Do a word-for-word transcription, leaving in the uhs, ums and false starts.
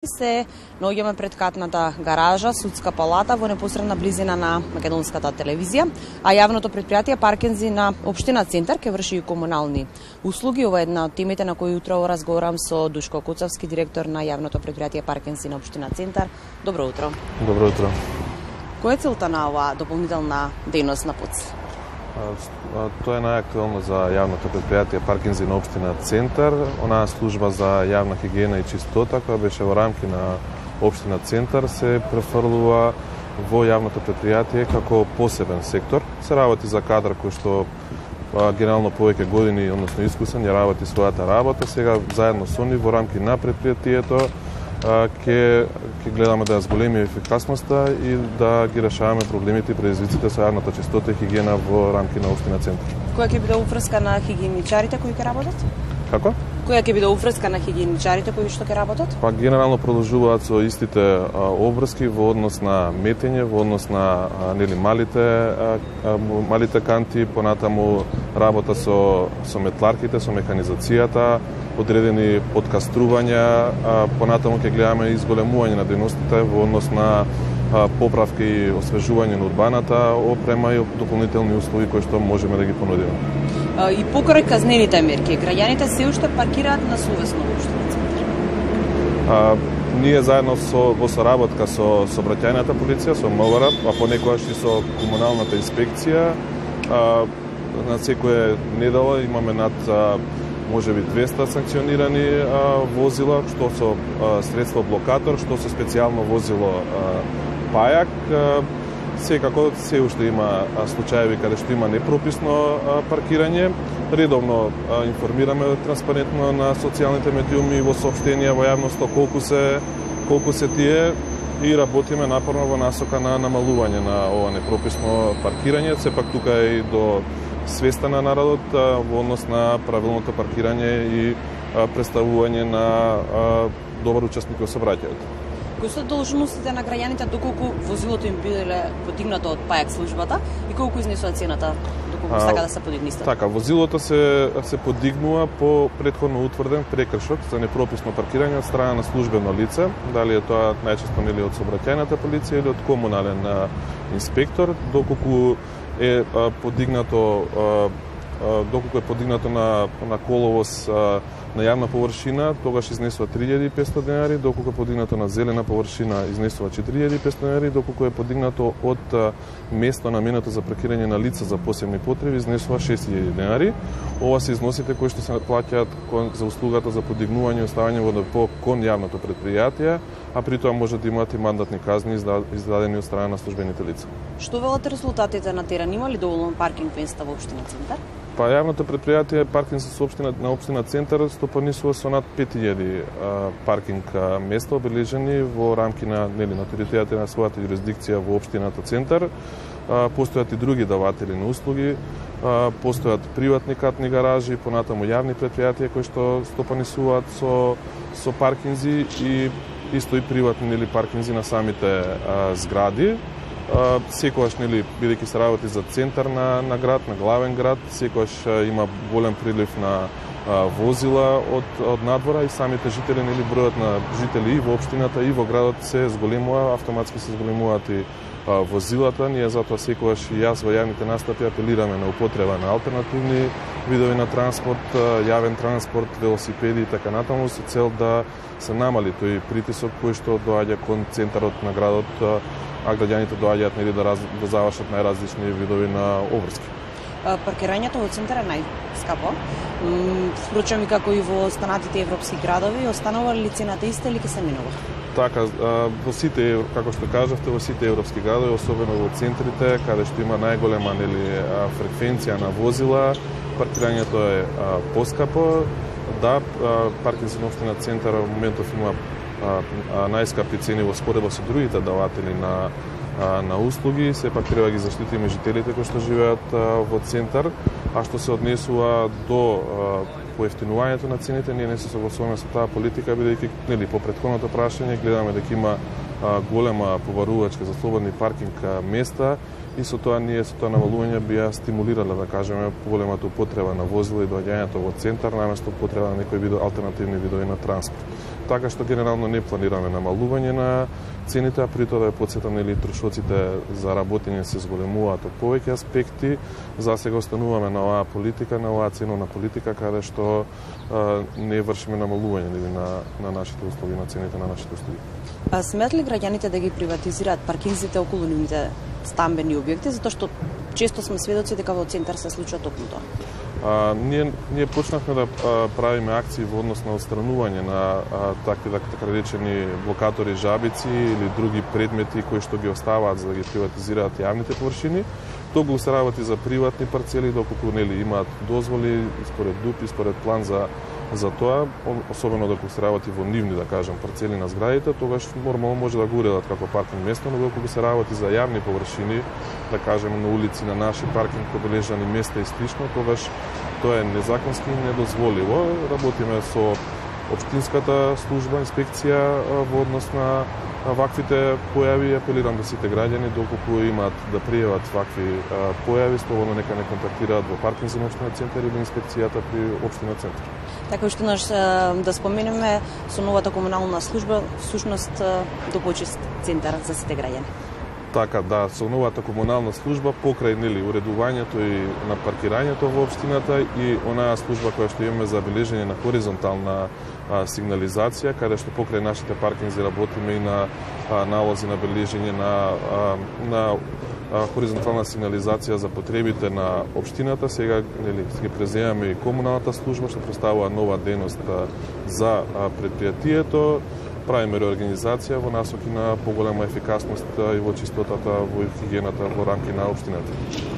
Се наоѓаме пред катната гаража, судска палата во непосредна близина на македонската телевизија, а јавното предпријатие Паркинзи на општина Центар ќе врши и комунални услуги. Ова е една од темите на кои утро разговарам со Душко Куцавски, директор на јавното предпријатие Паркинзи на општина Центар. Добро утро. Добро утро. Која е целта на оваа дополнителна дејност на ПУЦ? Тоа е најактуелно за јавното предпријатие Паркинзи на општина Центар. Онаа служба за јавна хигиена и чистота, која беше во рамки на општина Центар, се префрлува во јавното предпријатие како посебен сектор. Се работи за кадар кој што генерално повеќе години, односно искусен, ја работи својата работа. Сега заедно со нив во рамки на предпријатието ќе ќе гледаме да ја зголемиме ефикасноста и да ги решаваме проблемите и предизвиците со јавната чистота и хигиена во рамки на општина Центар. Која ќе биде уврска на хигиеничарите кои ќе работат? Како? Која ќе биде уврска на хигиеничарите кои што ќе работат? Па генерално продолжуваат со истите а, обврски во однос на метење, во однос на а, нели малите а, а, малите канти, понатаму работа со со метларките, со механизацијата, одредени подкаструвања, а, понатаму ќе гледаме изголемување на дејностите во однос на а, поправки и освежување на урбаната опрема и дополнителни услуги кои што можеме да ги понудиме. И покрај казнените мерки, граѓаните се уште паркираат на совесно во општина Центар. А, ние заедно со во соработка со сообраќајната полиција, со МВР, а понекогаш и со комуналната инспекција, а, на секоја недела имаме над а, можеби двеста санкционирани а, возила, што со а, средство блокатор, што со специјално возило а, пајак. А, Секако се уште има случаеви каде што има непрописно паркирање. Редовно информираме транспарентно на социјалните медиуми во соопштенија во јавноста колку се колку се тие и работиме напорно во насока на намалување на ова непрописно паркирање. Сепак тука е и до свеста на народот во однос на правилното паркирање и представување на добар учесник во сообраќајот. Кои се должностите на граѓаните доколку возилото им биде подигнато од пајак службата и колку изнесува цената доколку сака да се подигне исто? Така, возилото се се подигнува по претходно утврден прекршок за непрописно паркирање од страна на службено лице, дали е тоа најчесто нели од сообраќајната полиција или од комунален инспектор, доколку е подигнато доколку е подигнато на на коловоз на јавна површина, тогаш изнесува три илјади и петстотини денари, доколку е подигнато на зелена површина, изнесува четири илјади и петстотини денари, доколку е подигнато од место наменето за паркирање на лица за посебни потреби, изнесува шест илјади денари. Ова се износите кои што се плаќаат за услугата за подигнување и оставање во депо кон јавното предпријатие, а при тоа може да имаат и мандатни казни издадени од страна на службените лица. Што велат резултатите на терен? Има ли доволно паркинг места во општина Центар? Па јавното предпријатие Паркинзи со општина на општина Центар стопанисува со над пет илјади паркинг места обележени во рамки на нели на територијата на својата јурисдикција во општината Центар. Постојат и други даватели на услуги, постојат приватни катни гаражи, понатаму јавни предпријатија кои што стопанисуваат со со паркинзи и исто и приватни нели паркинзи на самите а, згради. Uh, секогаш нели бидејќи се работи за центар на на град, на главен град, секогаш uh, има голем прилив на uh, возила од од надвора и самите жители нели бројот на жители и во општината и во градот се зголемува, автоматски се зголемуваат и uh, возилата. Ние затоа секогаш и јас во јавните настапи апелираме на употреба на алтернативни видови на транспорт, uh, јавен транспорт, велосипеди и така натаму со цел да се намали тој притисок кој што доаѓа кон центарот на градот, uh, а граѓаните доаѓаат нели да, раз, да завршат најразлични видови на обврски. Паркирањето во центар е најскапо. Впрочем и како и во останатите европски градови, останува ли цената иста или ќе се менува? Така, во сите, како што кажавте, во сите европски градови, особено во центрите, каде што има најголема нели фреквенција на возила, паркирањето е поскапо. Да, Паркинзи на општина Центар во моментов има најскапи цени во споредба со другите даватели на на услуги, сепак треба да ги заштитиме жителите кои што живеат во Центар, а што се однесува до поевтинувањето на цените, ние не се согласуваме со таа политика, бидејќи нели по претходното прашање гледаме дека има голема побарувачка за слободни паркинг места и со тоа ние со тоа навалување би ја стимулирале, да кажеме, поголемата употреба на возила и доаѓањето во центар, наместо употреба на некои видови алтернативни видови на транспорт. така што генерално не планираме намалување на цените, а при тоа да ја потсетам, нели, трошоците за работење се зголемуваат од повеќе аспекти. За сега остануваме на оваа политика, на оваа ценовна политика, каде што а, не вршиме намалување, нели, на, на нашите услуги, на цените на нашите услуги. А смеат ли граѓаните да ги приватизираат паркинзите околу нивните стамбени објекти, затоа што често сме сведоци дека во центар се случува токму тоа? А, ние, ние почнавме да а, правиме акции во однос на отстранување на а, такви, така речени, блокатори, жабици или други предмети кои што ги оставаат за да ги приватизираат јавните површини. Тоа се работи за приватни парцели, доколку, нели, имаат дозволи според ДУП и според план за за тоа, особено доколку се работи во нивни, да кажем, парцели на зградите, тогаш нормално може да го уредат како паркинг место, но доколку се работи за јавни површини, да кажем на улици, на наши паркинг обележани места и слично, тогаш тоа е незаконски и недозволиво. Работиме со општинската служба, инспекција во однос на ваквите појави. Апелирам до сите граѓани, доколку имаат да пријават вакви појави, слободно нека не контактираат во паркинг за општина Центар или инспекцијата при општина Центар. Така уште наш да споменеме, со новата комунална служба, всушност допочист центар за сите граѓани. Така, да, со новата комунална служба покрај, нели, уредувањето и на паркирањето во општината и онаа служба која што имаме за бележење на хоризонтална а, сигнализација, каде што покрај нашите паркинзи работиме и на а, налози на бележење на, а, на а, хоризонтална сигнализација за потребите на општината. Сега, нели, ги преземаме и комуналната служба што представува нова дејност за а, предпријатието. Правиме реорганизација во насоки на поголема ефикасност и во чистотата, во хигиената во рамки на општината.